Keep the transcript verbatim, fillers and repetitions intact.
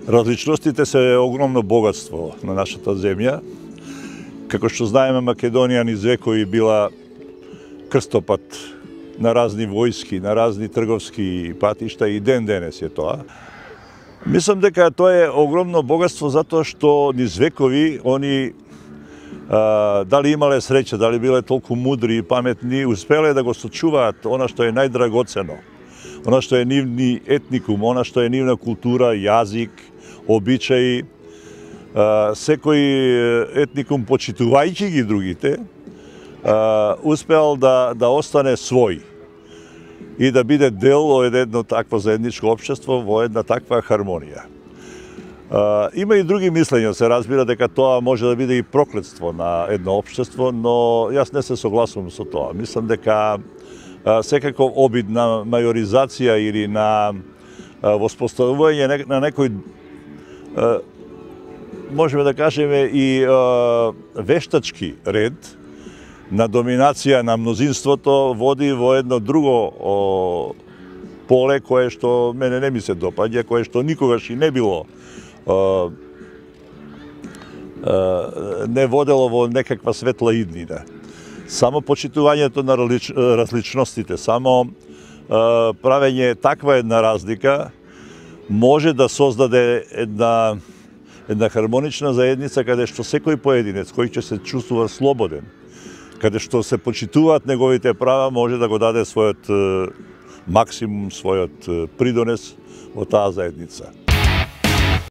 Различностите се огромно богатство на нашата земја. Како што знаеме, Македонија низ векови била крстопат на разни војски, на разни трговски патишта и ден денес е тоа. Мислам дека тоа е огромно богатство затоа што низ векови они а, дали имале среќа, дали биле толку мудри и паметни, успеле да го сочуваат она што е најдрагоцено, она што е нивни етникум, она што е нивна култура, јазик, обичаи. Секој етникум, почитувајќи ги другите, успеал да, да остане свој и да биде дел од едно такво заедничко општество во една таква хармонија. Има и други мислења, се разбира дека тоа може да биде и проклетство на едно општество, но јас не се согласувам со тоа. Мислам дека секако обид на мајоризација или на воспоставување на некој, можеме да кажеме и вештачки ред на доминација на мнозинството води во едно друго поле кое што мене не ми се допаѓа, кое што никогаш и не било не водело во некаква светла иднина. Само почитувањето на различностите, само правење таква една разлика може да создаде една една хармонична заедница каде што секој поединец кој ќе се чувствува слободен, каде што се почитуваат неговите права, може да го даде својот максимум, својот придонес во таа заедница.